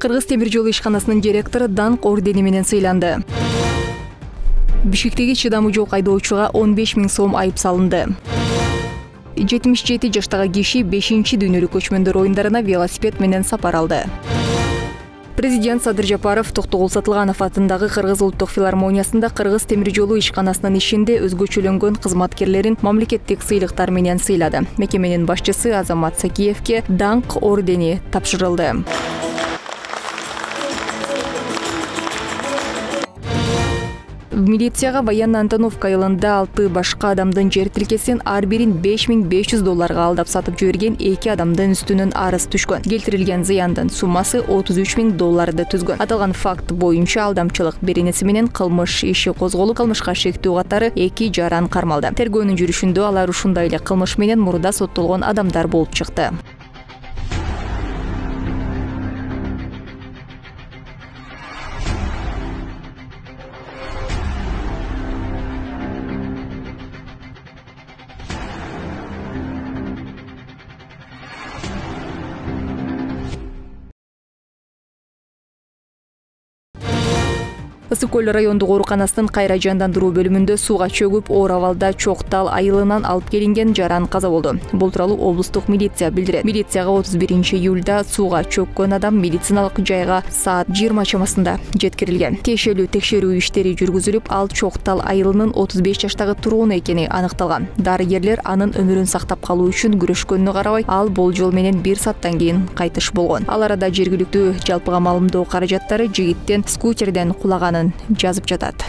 Кыргыз темир жолу ишканасынын директору даңк ордени менен сыйланды. Бишкектеги чыдамы жок айдоочуга 15 000 сом айып салынды. 77 жаштагы киши 5-дүйнөлүк көчмөндөр оюндарына велосипед менен сапар алды. Президент Садыр Жапаров Токтогул Сатылганов атындагы Кыргыз улуттук филармониясында Кыргыз темир жолу ишканасынын ишинде өзгөчөлөнгөн кызматкерлерин мамлекеттик сыйлыктар менен сыйлады. Мекеменин башчысы Азамат Сакиевке даңк ордени тапшырылды. Милицияга военный Антоновка айылында 6 башка адамдын жер тилкесин ар бирин $5500 алдап сатып жиберген 2 адамдын үстүнөн арыз түшкөн. Келтирилген зыяндын суммасы $33,000 түзгөн. Аталган факт боюнча алдамчылык беренеси менен кылмыш иши козголуп, кылмышка шектүү катары 2 жаран кармалды. Тергөөнүн жүрүшүндө алар ушундай эле кылмыш менен мурда соттолгон адамдар болуп чыкты. Ысык көл райондук ооруканасынын кайра жандандыруу бөлүмүндө сууга чөгүп, оор абалда Чоктал айылынан алып келинген жаран каза болду. Бул тууралуу облустук милиция билдирет. Милицияга 31-июлда сууга чөккөн адам медициналык жайга саат 20 чамасында жеткирилген. Тиешелүү текшерүү иштери жүргүзүлүп, ал Чоктал айылынын 35 жаштагы тургуну экени аныкталган. Дарыгерлер анын өмүрүн сактап калуу үчүн күрөшкөнүнө карабай, ал болжол менен 1 сааттан кийин кайтыш болгон. Ал арада жергиликтүү жалпыга маалымдоо каражаттары жигиттен скутерден кулаган жазып жатат.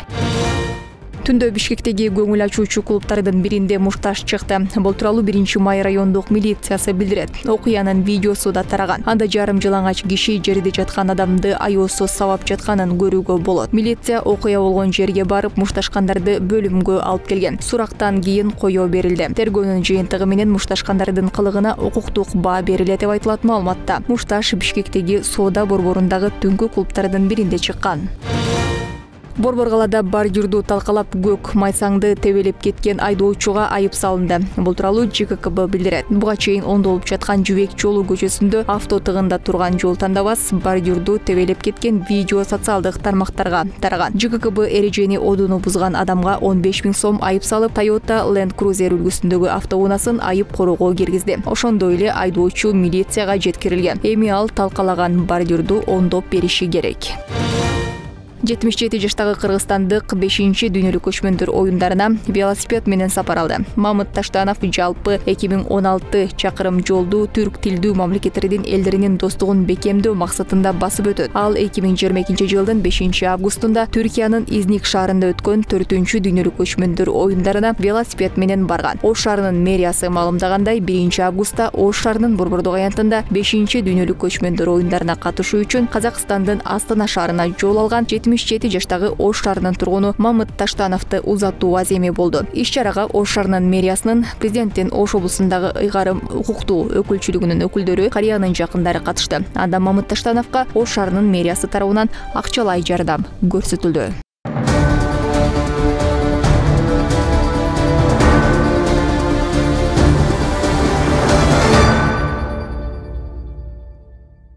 Түндө Бишкектеги көңүл ачуучу клубтардын биринде мушташ чыкты. Бул тууралуу 1-май райондук милициясы билдирет. Окуянын видеосу да тараган. Анда жарым жылаңач киши жерде жаткан адамды аяосуз сабап жатканын көрүүгө болот. Милиция окуя болгон жерге барып, мушташкандарды бөлүмгө алып келген. Сурактан кийин коё берилди. Тергөөнүн жыйынтыгы менен мушташкандардын кылыгына укуктук баа берилет деп айтылат маалыматта. Мушташ Бишкектеги соода борборундагы түнкү клубтардын биринде чыккан. Борбор калаада бордюрду талкалап көк майсаңды тебелеп кеткен айдоочуга айып салынды. Бул тууралуу ЖККБ билдирет. Буга чейин ондолуп жаткан Жүбек жолу көчөсүндө авто тыгында турган жол тандабас бордюрду тебелеп кеткен видео социалдык тармактарга тараган. ЖККБ эрежени одуну бузган адамга 15 000 сом айып салып, Toyota Land Cruiser үлгүсүндөгү автоунаасын айып короого киргизди. Ошондой эле айдоочу милицияга жеткирилген. Эми ал талкалаган бордюрду оңдоп бериши керек. 77 жаштагы кыргызстандык 5-дүйнөлүк көчмөндөр оюндарына велосипед менен сапар алды. Мамыт Таштанов жалпы 2016 чакырым жолду түрк тилдүү мамлекеттердин элдеринин достугун бекемдөө максатында басып өтөт. Ал 2022 жылдын 5 августунда Түркиянын Изник шаарында өткөн 4-дүйнөлүк көчмөндөр оюндарына велосипед менен барган. Ош шаарынын мэриясы маалымдагандай, 1 августта Ош шаарынын Борбордук аянтында 5-дүйнөлүк көчмөндөр оюндарына катышуу үчүн Казакстандын Астана шаарына жол алган 77 жаштагы Ош шаарынын тургуну Мамыт Таштановду узатуу аземи болду. Иш-чарага Ош шаарынын мэриясынын, президенттин Ош облусундагы ыйгарым укуктуу өкүлчүлүгүнүн өкүлдөрү, карыянын жакындары катышты. Анда Мамыт Таштановго Ош шаарынын мэриясы тарабынан акчалай жардам көрсөтүлдү.